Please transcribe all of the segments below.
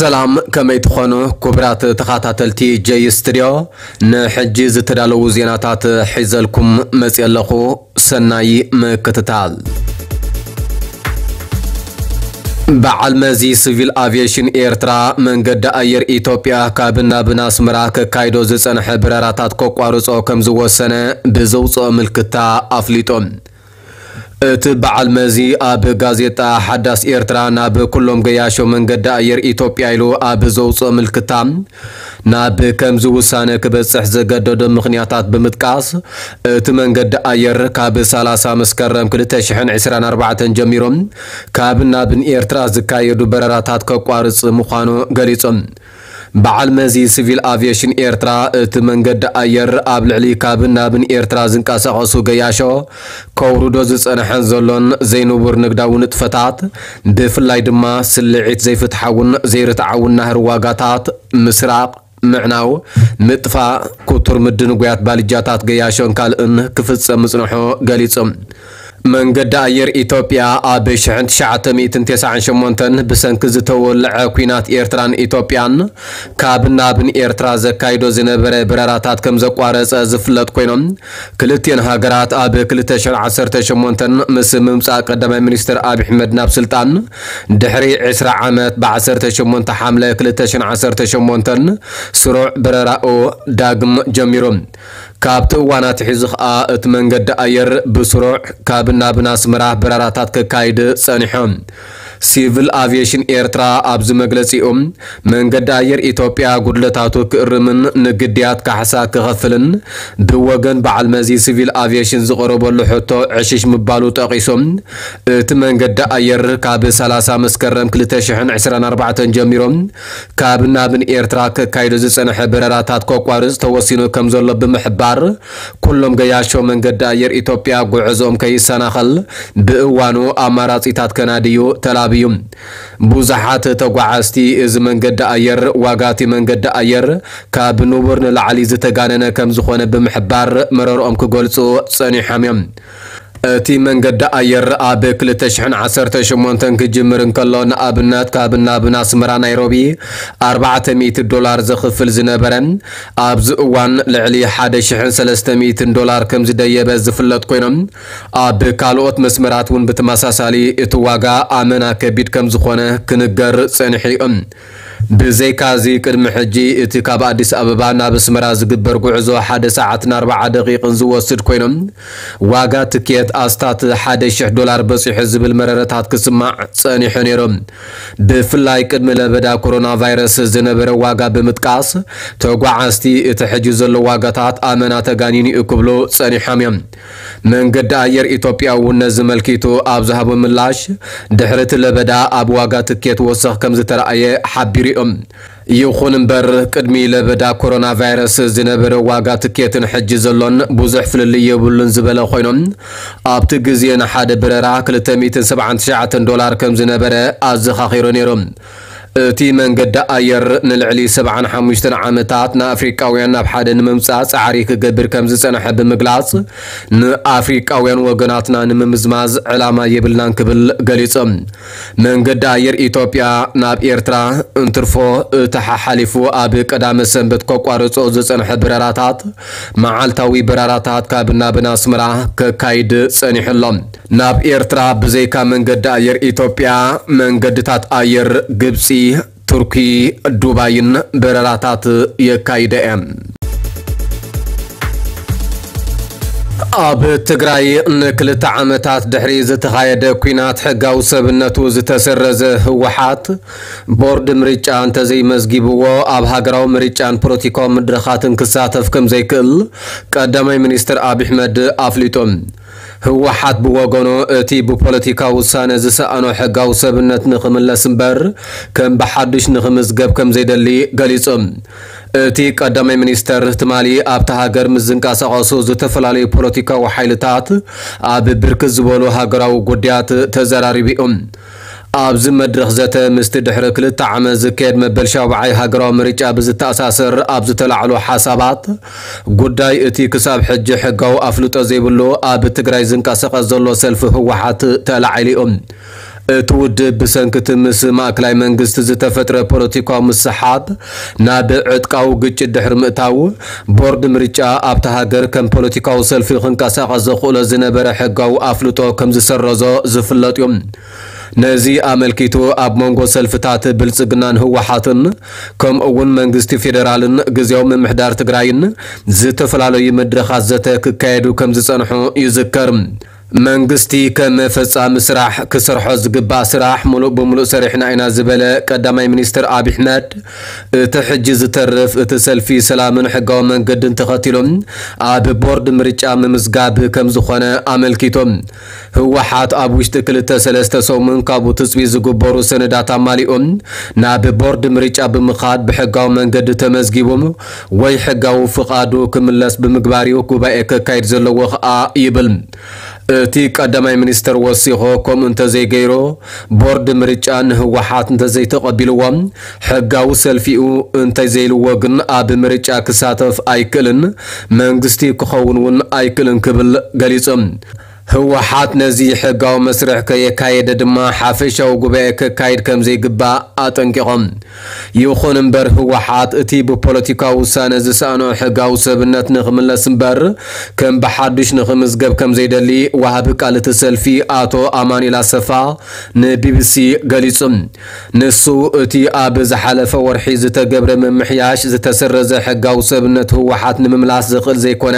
ሰላም፣ ከመይ ትኾኑ ክቡራት ተኸታተልቲ ጀይ ስቱድዮ? ንሕጂ ዝተዳለዉ ዜናታት ሒዘልኩም መፅየ ኣለኹ። ሰናይ ምክትታል። በዓል መዚ ሲቪል ኣቪዬሽን ኤርትራ መንገዲ ኣየር ኢትዮጵያ ካብን ናብን ኣስመራ ከካይዶ ዝጸንሐ በረራታት ከቋርጾ ከም ዝወሰነ ብዘውጽኦ ምልክታ ኣፍሊጡ። እቲ በዓል መዚ ኣብ ጋዜጣ ሓዳስ ኤርትራ ናብ ኩሎም ገያሾ መንገዲ ኣየር ኢትዮጵያ ኢሉ ኣብ ዘውጽኦ ምልክታ፣ ናብ ከምዚ ውሳነ ክበጽሕ ዘገደዶ ምኽንያታት ብምጥቃስ፣ እቲ መንገዲ ኣየር ካብ ሰላሳ መስከረም ክልተ ሽሕን ዕስራን ኣርባዕተን ጀሚሩ ካብን ናብን ኤርትራ ዝካየዱ በረራታት ከቋርጽ ምዃኑ ገሊጹ። በዓል መዚ ሲቪል ኣቪዬሽን ኤርትራ፣ እቲ መንገዲ ኣየር ኣብ ልዕሊ ካብን ናብን ኤርትራ ዝንቀሳቐሱ ገያሾ ከውርዶ ዝጸንሐን ዘሎን ዘይንቡር ንግዳዊ ንጥፈታት፣ ብፍላይ ድማ ስልዒት ዘይፍትሓውን ዘይርትዓውን ናህሪ ዋጋታት፣ ምስራቕ፣ ምዕናው፣ ምጥፋእ፣ ክቱር ምድንጓያት ባልጃታት ገያሾን ካልእን ክፍጸም ምጽንሑ ገሊጹ። መንገዲ ኣየር ኢትዮጵያ ኣብ ሽሕን ትሽዓተ ሚእትን ተስዓን ሸሞንተን ብሰንኪ ዝተወልዐ ኲናት ኤርትራን ኢትዮጵያን ካብ ናብን ኤርትራ ዘካይዶ ዝነበረ በረራታት ከም ዘቋረጸ ዝፍለጥ ኮይኖም፣ ክልቲኤን ሃገራት ኣብ ክልተ ሽሕን ዓሰርተ ሸሞንተን ምስ ምምጻእ ቀዳማይ ሚኒስትር ኣብይ ኣሕመድ ናብ ስልጣን ድሕሪ ዕስራ ዓመት ብ ዓሰርተ ሸሞንተ ሓምለ ክልተ ሽሕን ዓሰርተ ሸሞንተን ስሩዕ በረራኡ ዳግም ጀሚሩ። ካብቲ እዋን ኣትሒዙ ኸኣ እቲ መንገዲ ኣየር ብስሩዕ ካብ ናብን ኣስመራ በረራታት ከካይድ ጸኒሑ። ሲቪል ኣቪዬሽን ኤርትራ ኣብዚ መግለጺኡ፣ መንገዲ ኣየር ኢትዮጵያ ጉድለታቱ ክእርምን ንግድያት ካሕሳ ክኸፍልን ብወገን በዓል መዚ ሲቪል ኣቪዬሽን ዝቐረበሉ ሕቶ ዕሽሽ ምባሉ ጠቒሱ፣ እቲ መንገዲ ኣየር ካብ ሰላሳ መስከረም ክልተ ሽሕን ዕስራን ኣርባዕተን ጀሚሩ ካብ ናብን ኤርትራ ከካይዶ ዝጸንሐ በረራታት ከቋርጽ ተወሲኑ ከም ዘሎ ብምሕባር፣ ኩሎም ገያሾ መንገዲ ኣየር ኢትዮጵያ ጉዕዞኦም ከይሰናኸል ብእዋኑ ኣማራጺታት ከናድዩ ተላብዩ። ብዙሓት ተጓዓዝቲ፣ እዚ መንገዲ ኣየር ዋጋ እቲ መንገዲ ኣየር ካብ ንቡር ንላዕሊ ዝተጋነነ ከም ዝኾነ ብምሕባር መረርኦም ክገልጹ ጸኒሖም እዮም። እቲ መንገዲ ኣየር ኣብ ክልተ ሽሕን ዓሰርተ ሸሞንተን ክጅምር እንከሎ፣ ንኣብነት ካብ ናብን ኣስመራ ናይሮቢ ኣርባዕተ ሚእቲ ዶላር ዘኽፍል ዝነበረ፣ ኣብዚ እዋን ልዕሊ ሓደ ሽሕን ሰለስተ ሚእትን ዶላር ከም ዝደየበ ዝፍለጥ ኮይኖም፣ ኣብ ካልኦት መስመራት እውን ብተመሳሳሊ እቲ ዋጋ ኣመና ከቢድ ከም ዝኾነ ክንገር ጸኒሑ እዩ። ብዘይካዚ፣ ቅድሚ ሕጂ እቲ ካብ ኣዲስ ኣበባ ናብ ኣስመራ ዝግበር ጉዕዞ ሓደ ሰዓትን ኣርባዓ ደቂቕን ዝወስድ ኮይኖም፣ ዋጋ ትኬት ኣስታት ሓደ ሽሕ ዶላር በጺሑ ዝብል መረረታት ክስማዕ ጸኒሑ ነይሩ። ብፍላይ ቅድሚ ለበዳ ኮሮና ቫይረስ ዝነበረ ዋጋ ብምጥቃስ፣ ተጓዓዝቲ እቲ ሕጂ ዘሎ ዋጋታት ኣመና ተጋኒኑ እዩ ክብሉ ጸኒሖም እዮም። መንገዲ ኣየር ኢትዮጵያ እውን ነዚ መልኪቱ ኣብ ዝሃቦ ምላሽ፣ ድሕሪ እቲ ለበዳ ኣብ ዋጋ ትኬት ወሰኽ ከም ዝተረኣየ ሓቢሩ እዮም። ይኹን እምበር፣ ቅድሚ ለበዳ ኮሮና ቫይረስ ዝነበረ ዋጋ ትኬትን ሕጂ ዘሎን ብዙሕ ፍልልይ የብሉን ዝበለ ኮይኖም፣ ኣብቲ ግዜ ንሓደ በረራ ክልተ ሚእትን ሰብዓን ትሽዓተን ዶላር ከም ዝነበረ ኣዘኻኺሩ ነይሩ። እቲ መንገዲ ኣየር ንልዕሊ ሰብዓን ሓሙሽተን ዓመታት ንኣፍሪቃውያን ናብ ሓደ ንምምጻእ ጻዕሪ ክገብር ከም ዝጸንሐ ብምግላጽ፣ ንኣፍሪቃውያን ወገናትና ንምምዝማዝ ዕላማ የብልናን ክብል ገሊጹ። መንገዲ ኣየር ኢትዮጵያ ናብ ኤርትራ እንትርፎ፣ እቲ ሓሓሊፉ ኣብ ቀዳመ ሰንበት ከቋርጾ ዝጸንሐ በረራታት መዓልታዊ በረራታት ካብ ናብን ኣስመራ ከካይድ ጸኒሑ ኣሎ። ናብ ኤርትራ ብዘይካ መንገዲ ኣየር ኢትዮጵያ፣ መንገድታት ኣየር ግብጺ፣ ቱርኪ፣ ዱባይን በረራታት የካይዳ እየን። ኣብ ትግራይ ንክልተ ዓመታት ድሕሪ ዝተኻየደ ኲናት ሕጋዊ ሰብነቱ ዝተሰረዘ ህወሓት፣ ቦርድ ምርጫ እንተዘይመዝጊብዎ ኣብ ሃገራዊ ምርጫን ፖለቲካዊ መድረኻትን ክሳተፍ ከም ዘይክእል ቀዳማይ ሚኒስትር ኣብይ ኣሕመድ ኣፍሊጡ። ህወሓት ብወገኑ፣ እቲ ብፖለቲካዊ ውሳነ ዝሰኣኖ ሕጋዊ ሰብነት ንኽምለስ እምበር ከም ብሓዱሽ ንኽምዝገብ ከም ዘይደሊ ገሊጹ። እቲ ቀዳማይ ሚኒስተር ትማሊ ኣብታ ሃገር ምስ ዝንቀሳቐሱ ዝተፈላለዩ ፖለቲካዊ ሓይልታት ኣብ ብርክት ዝበሉ ሃገራዊ ጉዳያት ተዘራሪቡ እዩ። ኣብዚ መድረኽ ዘተ፣ ምስቲ ድሕሪ ክልተ ዓመት ዝካየድ መበል ሻውዓይ ሃገራዊ ምርጫ ብዝተኣሳሰር ኣብ ዝተላዕሉ ሓሳባት፣ ጉዳይ እቲ ክሳብ ሕጂ ሕጋዊ ኣፍልጦ ዘይብሉ ኣብ ትግራይ ዝንቀሳቐስ ዘሎ ሰልፊ ህወሓት ተላዒሉ እዩ። እቲ ውድብ ብሰንኪ እቲ ምስ ማእከላይ መንግስቲ ዝተፈጥረ ፖለቲካዊ ምስሓብ ናብ ዕጥቃዊ ግጭት ድሕሪ ምእታው፣ ቦርድ ምርጫ ኣብታ ሃገር ከም ፖለቲካዊ ሰልፊ ክንቀሳቐስ ዘኽእሎ ዝነበረ ሕጋዊ ኣፍልጦ ከም ዝሰረዞ ዝፍለጥ እዩ። ነዚ ኣመልኪቱ ኣብ መንጎ ሰልፍታት ብልጽግናን ህወሓትን ከምኡ እውን መንግስቲ ፌደራልን ግዜያዊ ምምሕዳር ትግራይን ዝተፈላለዩ መድረኻት ዘተ ክካየዱ ከም ዝጸንሑ ይዝከር። መንግስቲ ከም ፈጻሚ ስራሕ ክሰርሖ ዝግባእ ስራሕ ሙሉእ ብሙሉእ ሰሪሕና ኢና ዝበለ ቀዳማይ ሚኒስትር ኣብይ ኣሕመድ፣ እቲ ሕጂ ዝተርፍ እቲ ሰልፊ ሰላምን ሕጋዊ መንገድን ተኸቲሎም ኣብ ቦርድ ምርጫ ምምዝጋብ ከም ዝኾነ ኣመልኪቶም። ህወሓት ኣብ ውሽጢ ክልተ ሰለስተ ሰሙን ካብኡ ትጽቢት ዝግበሩ ሰነዳት ኣማሊኦም ናብ ቦርድ ምርጫ ብምኻድ ብሕጋዊ መንገዲ ተመዝጊቡ ወይ ሕጋዊ ፍቓዱ ክምለስ ብምግባር እዩ ጉባኤ ከካይድ ዘለዎ ኸኣ ይብል። እቲ ቀዳማይ ሚኒስትር ወሲኾ፣ ከምኡ እንተዘይገይሮ፣ ቦርድ ምርጫ ንህወሓት እንተዘይተቐቢልዎ፣ ሕጋዊ ሰልፊኡ እንተዘይልዎ ግን ኣብ ምርጫ ክሳተፍ ኣይክእልን፣ መንግስቲ ክኸውን እውን ኣይክእልን ክብል ገሊጹ። ህወሓት ነዚ ሕጋዊ መስርሕ ከየካየደ ድማ ሓፈሻዊ ጉባኤ ከካይድ ከም ዘይግባእ ኣጠንቂቖም። ይኹን እምበር ህወሓት እቲ ብፖለቲካዊ ውሳነ ዝሰኣኖ ሕጋዊ ሰብነት ንኽምለስ እምበር ከም ብሓዱሽ ንኽምዝገብ ከም ዘይደሊ ወሃቢ ቃል እቲ ሰልፊ ኣቶ ኣማኑኤል ኣሰፋ ንቢቢሲ ገሊጹ። ንሱ እቲ ኣብ ዝሓለፈ ወርሒ ዝተገብረ ምምሕያሽ ዝተሰረዘ ሕጋዊ ሰብነት ህወሓት ንምምላስ ዘኽእል ዘይኮነ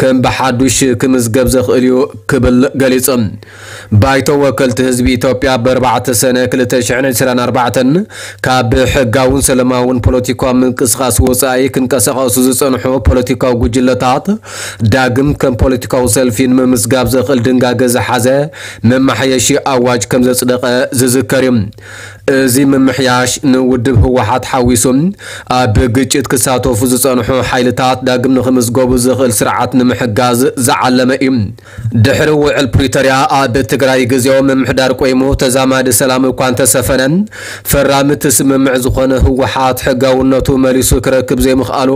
ከም ብሓዱሽ ክምዝገብ ዘኽእል እዩ ክብል ገሊጹ። ባይቶ ወከልቲ ህዝቢ ኢትዮጵያ ብ ኣርባዕተ ሰነ ክልተ ሽሕን ዕስራን ኣርባዕተን ካብ ሕጋውን ሰላማውን ፖለቲካዊ ምንቅስቃስ ወጻኢ ክንቀሳቐሱ ዝጸንሑ ፖለቲካዊ ጉጅለታት ዳግም ከም ፖለቲካዊ ሰልፊ ንምምዝጋብ ዘኽእል ድንጋገ ዝሓዘ መማሓየሺ ኣዋጅ ከም ዘጽደቐ ዝዝከር እዩ። እዚ ምምሕያሽ ንውድብ ህወሓት ሓዊሱ ኣብ ግጭት ክሳተፉ ዝጸንሑ ሓይልታት ዳግም ንኽምዝገቡ ዘኽእል ስርዓት ንምሕጋዝ ዝዓለመ እዩ። ድሕሪ ውዕል ፕሪቶርያ ኣብ ትግራይ ግዜያዊ ምምሕዳር ቆይሙ ተዛማዲ ሰላም እኳ እንተሰፈነ፣ ፈራሚ እቲ ስምምዕ ዝኾነ ህወሓት ሕጋውነቱ መሊሱ ክረክብ ዘይምኽኣሉ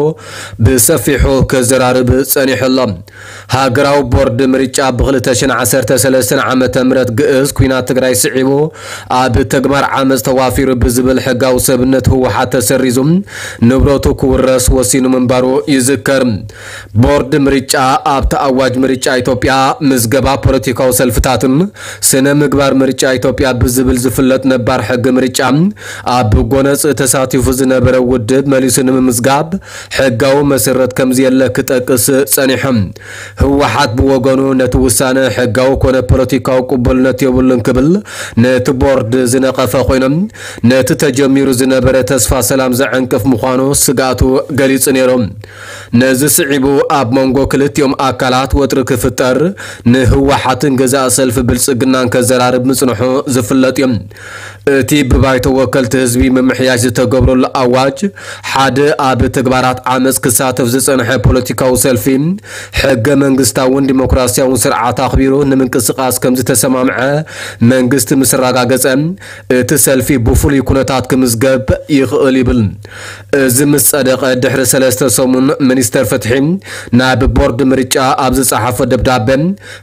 ብሰፊሑ ክዘራርብ ጸኒሑ ኣሎ። ሃገራዊ ቦርድ ምርጫ ብ ክልተ ሽሕን ዓሰርተ ሰለስተን ዓመተ ምህረት ግእዝ ኲናት ትግራይ ስዒቡ ኣብ ተግባር ዓመፅ ተዋፊሩ ብዝብል ሕጋዊ ሰብነት ህወሓት ተሰሪዙ ንብረቱ ክውረስ ወሲኑ ምንባሩ ይዝከር። ቦርድ ምርጫ ኣብቲ ኣዋጅ ምርጫ ኢትዮጵያ ምዝገባ ፖለቲካዊ ሰልፍታትን ስነ ምግባር ምርጫ ኢትዮጵያ ብዝብል ዝፍለጥ ነባር ሕጊ ምርጫ ኣብ ጎነፅ ተሳቲፉ ዝነበረ ውድብ መሊሱ ንምምዝጋብ ሕጋዊ መሰረት ከምዘየለ ክጠቅስ ጸኒሑ። ህወሓት ብወገኑ ነቲ ውሳነ ሕጋዊ ኮነ ፖለቲካዊ ቅቡልነት የብሉን ክብል ነቲ ቦርድ ዝነቐፈ ኮይኑ፣ ነቲ ተጀሚሩ ዝነበረ ተስፋ ሰላም ዘዕንቅፍ ምዃኑ ስግኣቱ ገሊጹ ነይሩ። ነዚ ስዒቡ ኣብ መንጎ ክልቲኦም ኣካላት ወጥሪ ክፍጠር፣ ንህወሓትን ገዛኢ ሰልፊ ብልጽግናን ከዘራርብ ምጽንሑ ዝፍለጥ እዩ። እቲ ብባይቶ ወከልቲ ህዝቢ ምምሕያሽ ዝተገብረሉ ኣዋጅ፣ ሓደ ኣብ ተግባራት ዓመፅ ክሳተፍ ዝጸንሐ ፖለቲካዊ ሰልፊ ሕገ መንግስታውን ዲሞክራሲያውን ስርዓት ኣኽቢሩ ንምንቅስቃስ ከም ዝተሰማምዐ መንግስቲ ምስ ኣረጋገጸ፣ እቲ ሰልፊ ብፍሉይ ኩነታት ክምዝገብ ይኽእል ይብል። እዚ ምስ ጸደቐ ድሕሪ ሰለስተ ሰሙን ሚኒስተር ፍትሒ ናብ ቦርድ ምርጫ ኣብ ዝጸሓፎ ደብዳበ፣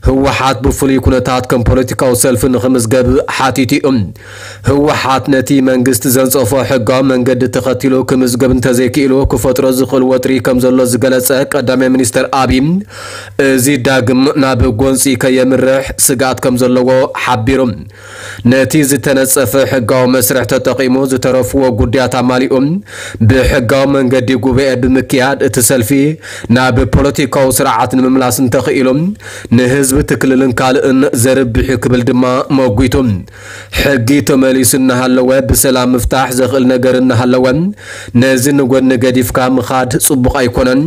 ህወሓት ብፍሉይ ኩነታት ከም ፖለቲካዊ ሰልፊ ንኽምዝገብ ሓቲቱ እዩ። ህወሓት ነቲ መንግስቲ ዘንጸፎ ሕጋዊ መንገዲ ተኸቲሉ ክምዝገብ እንተዘይክኢሉ ክፈጥሮ ዝኽእል ወጥሪ ከም ዘሎ ዝገለጸ ቀዳማይ ሚኒስተር ኣብይ፣ እዚ ዳግም ናብ ጎንጺ ከየምርሕ ስግኣት ከም ዘለዎ ሓቢሩ። ነቲ ዝተነጸፈ ሕጋዊ መስርሕ ተጠቒሙ ዝተረፍዎ ጉዳያት ኣማሊኡ ብሕጋዊ መንገዲ ጉባኤ ብምክያድ እቲ ሰልፊ ናብ ፖለቲካዊ ስርዓት ንምምላስ እንተኽኢሉ ንህዝቢ እቲ ክልልን ካልእን ዘርብሕ እዩ ክብል ድማ መጒቱ። ሕጊ ተመሊሱ እናሃለወ ብሰላም ምፍታሕ ዘኽእል ነገር እናሃለወ ነዚ ንጎኒ ገዲፍካ ምኻድ ጽቡቕ ኣይኮነን።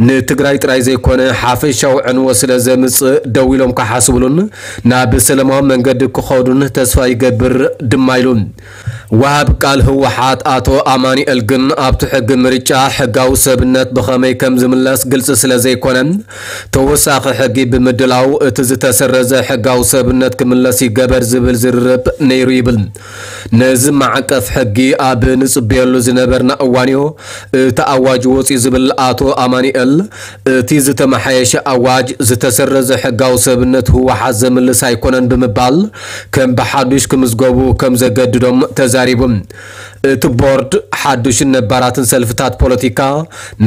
ንትግራይ ጥራይ ዘይኮነ ሓፈሻዊ ዕንወት ስለ ዘምጽእ ደው ኢሎም ክሓስብሉን ናብ ሰላማዊ መንገዲ ክኸዱን ተስፋ ይገብር ድማ ኢሉ። ወሃብ ቃል ህወሓት ኣቶ ኣማኑኤል ግን ኣብቲ ሕጊ ምርጫ ሕጋዊ ሰብነት ብኸመይ ከም ዝምለስ ግልጺ ስለ ዘይኮነ፣ ተወሳኺ ሕጊ ብምድላው እቲ ዝተሰረዘ ሕጋዊ ሰብነት ክምለስ ይገበር ዝብል ዝርርብ ነይሩ ይብል። ነዚ ማዕቀፍ ሕጊ ኣብ ንጽበየሉ ዝነበርና እዋንዮ እቲ ኣዋጅ ወጺኡ ዝብል ኣቶ ኣማኑኤል፣ እቲ ዝተመሓየሸ ኣዋጅ ዝተሰረዘ ሕጋዊ ሰብነት ህወሓት ዘምልስ ኣይኮነን ብምባል ከም ብሓዱሽ ክምዝገቡ ከም ዘገድዶም ተዛሪቡ። እቲ ቦርድ ሓዱሽን ነባራትን ሰልፍታት ፖለቲካ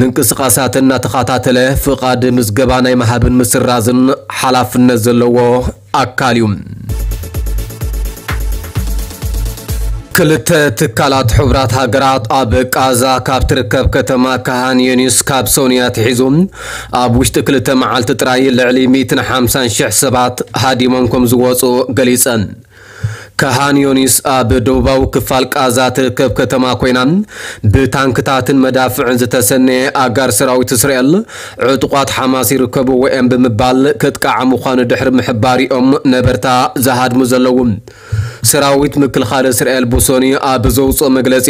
ምንቅስቃሳት እናተኸታተለ ፍቓድ ምዝገባ ናይ ምሃብን ምስራዝን ሓላፍነት ዘለዎ ኣካል እዩ። ክልተ ትካላት ሕቡራት ሃገራት ኣብ ቃዛ ካብ ትርከብ ከተማ ካሃን ዮኒስ ካብ ሶንያ ትሒዙ ኣብ ውሽጢ ክልተ መዓልቲ ጥራይ ልዕሊ ሚእትን ሓምሳን ሽሕ ሰባት ሃዲሞም ከም ዝወፁ ገሊፀን። ካሃን ዮኒስ ኣብ ደቡባዊ ክፋል ቃዛ ትርከብ ከተማ ኮይና ብታንክታትን መዳፍዕን ዝተሰነየ ኣጋር ሰራዊት እስራኤል ዕጡቋት ሓማስ ይርከብዎ እዮም ብምባል ከጥቃዓ ምዃኑ ድሕሪ ምሕባር እዮም ነበርታ ዝሃድሙ ዘለዉ። ሰራዊት ምክልኻል እስራኤል ብሶኒ ኣብ ዘውፅኦ መግለፂ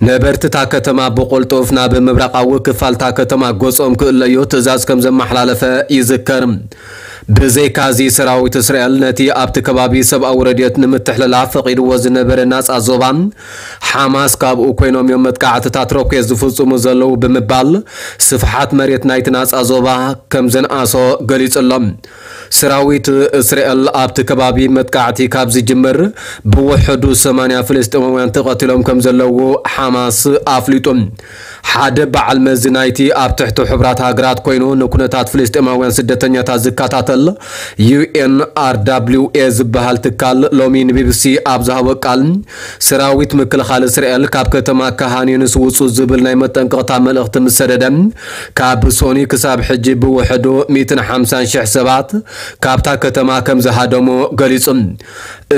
ነበርቲ እታ ከተማ ብቆልጡፍ ናብ ምብራቃዊ ክፋል እታ ከተማ ገፆም ክእለዩ ትእዛዝ ከም ዘመሓላለፈ ይዝከር። ብዘይካዚ ሰራዊት እስራኤል ነቲ ኣብቲ ከባቢ ሰብኣዊ ረድኤት ንምትሕልላፍ ፈቒድዎ ዝነበረ ናጻ ዞባ ሓማስ ካብኡ ኮይኖም እዮም መጥቃዕትታት ሮኬት ዝፍጽሙ ዘለዉ ብምባል ስፍሓት መሬት ናይቲ ናጻ ዞባ ከም ዘንኣሶ ገሊጹ ኣሎ። ሰራዊት እስራኤል ኣብቲ ከባቢ መጥቃዕቲ ካብ ዝጅምር ብውሕዱ ሰማንያ ፍልስጤማውያን ተቐቲሎም ከም ዘለዉ ሓማስ ኣፍሊጡ። ሓደ በዓል መዚ ናይቲ ኣብ ትሕቲ ሕቡራት ሃገራት ኮይኑ ንኩነታት ፍልስጤማውያን ስደተኛታት ዝከታተል ዩ ኤን ኣር ደብሊው ኤ ዝበሃል ትካል ሎሚ ንቢቢሲ ኣብ ዝሃቦ ቃል፣ ሰራዊት ምክልኻል እስራኤል ካብ ከተማ ካሃን ዩኒስ ውጹ ዝብል ናይ መጠንቀቕታ መልእኽቲ ምስ ሰደደ፣ ካብ ሶኒ ክሳብ ሕጂ ብውሕዱ ሚእትን ሓምሳን ሽሕ ሰባት ካብታ ከተማ ከም ዝሃደሙ ገሊጹ።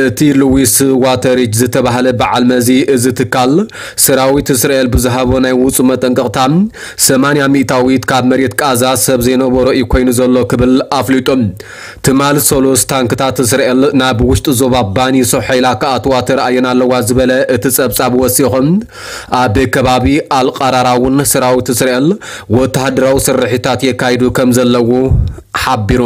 እቲ ሉዊስ ዋተሪጅ ዝተባህለ በዓል መዚ እዚ ትካል፣ ሰራዊት እስራኤል ብዝሃቦ ናይ ውጹ መጠንቀቕታ፣ ሰማንያ ሚእታዊት ካብ መሬት ቃዛ ሰብ ዘይነበሮ እዩ ኮይኑ ዘሎ ክብል ኣፍሊጡ። ትማል ሰሉስ ታንክታት እስራኤል ናብ ውሽጢ ዞባ ባኒ ሶሐይላ ክኣትዋ ተራእየን ኣለዋ ዝበለ እቲ ጸብጻብ ወሲኹ፣ ኣብ ከባቢ ኣልቃራራ እውን ሰራዊት እስራኤል ወተሃደራዊ ስርሒታት የካይዱ ከም ዘለዉ ሓቢሩ።